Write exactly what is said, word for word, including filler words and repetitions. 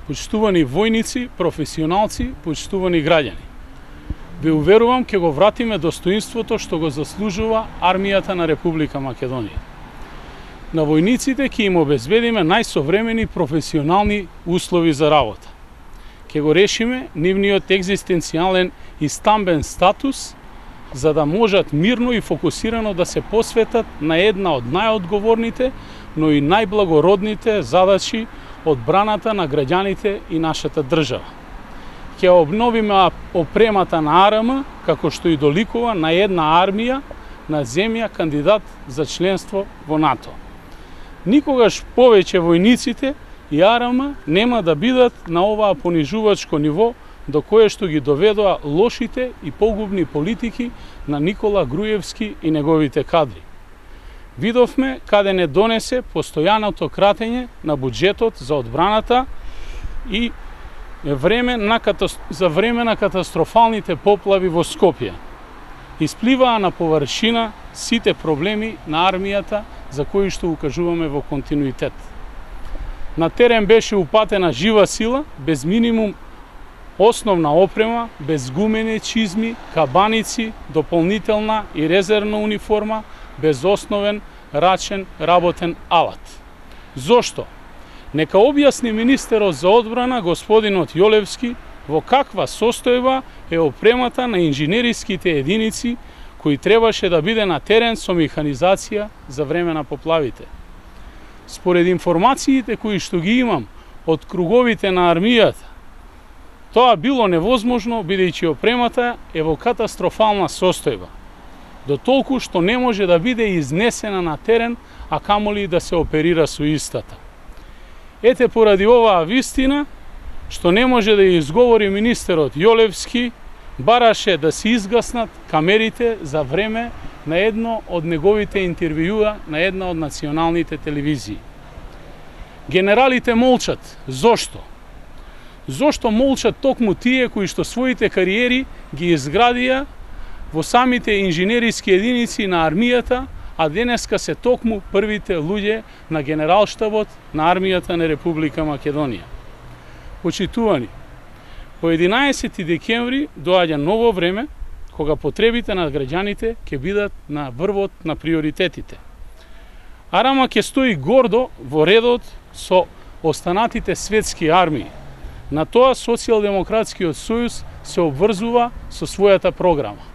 Почитувани војници, професионалци, почитувани граѓани. Ве уверувам ќе го вратиме достоинството што го заслужува армијата на Република Македонија. На војниците ќе им обезбедиме најсовремени професионални услови за работа. Ќе го решиме нивниот екзистенцијален и стамбен статус, за да можат мирно и фокусирано да се посветат на една од најодговорните, но и најблагородните задачи одбраната на граѓаните и нашата држава. Ќе обновиме опремата на АРМ, како што и доликува на една армија на земја кандидат за членство во НАТО. Никогаш повеќе војниците и АРМ нема да бидат на оваа понижувачко ниво до кое што ги доведоа лошите и погубни политики на Никола Груевски и неговите кадри. Видовме каде не донесе постојаното кратење на буџетот за одбраната и време на катастр... за време на катастрофалните поплави во Скопје. Испливаа на површина сите проблеми на армијата за кои што укажуваме во континуитет. На терен беше упатена жива сила, без минимум основна опрема, без гумени чизми, кабаници, дополнителна и резервна униформа, без основен рачен работен алат. Зошто? Нека објасни министерот за одбрана господинот Јолевски во каква состојба е опремата на инженериските единици кои требаше да биде на терен со механизација за време на поплавите. Според информациите кои што ги имам од круговите на армијата, тоа било невозможно бидејќи опремата е во катастрофална состојба, до толку што не може да биде изнесена на терен, а камоли да се оперира со истата. Ете поради оваа вистина, што не може да ја изговори министерот Јолевски, бараше да се изгаснат камерите за време на едно од неговите интервјуа на една од националните телевизии. Генералите молчат. Зошто? Зошто молчат токму тие кои што своите кариери ги изградија во самите инженериски единици на армијата, а денеска се токму првите луѓе на генералштабот на армијата на Република Македонија. Почитувани, по единаесети декември доаѓа ново време, кога потребите на граѓаните ќе бидат на врвот на приоритетите. АРМ ќе стои гордо во редот со останатите светски армии. На тоа Социјалдемократскиот сојуз се обврзува со својата програма.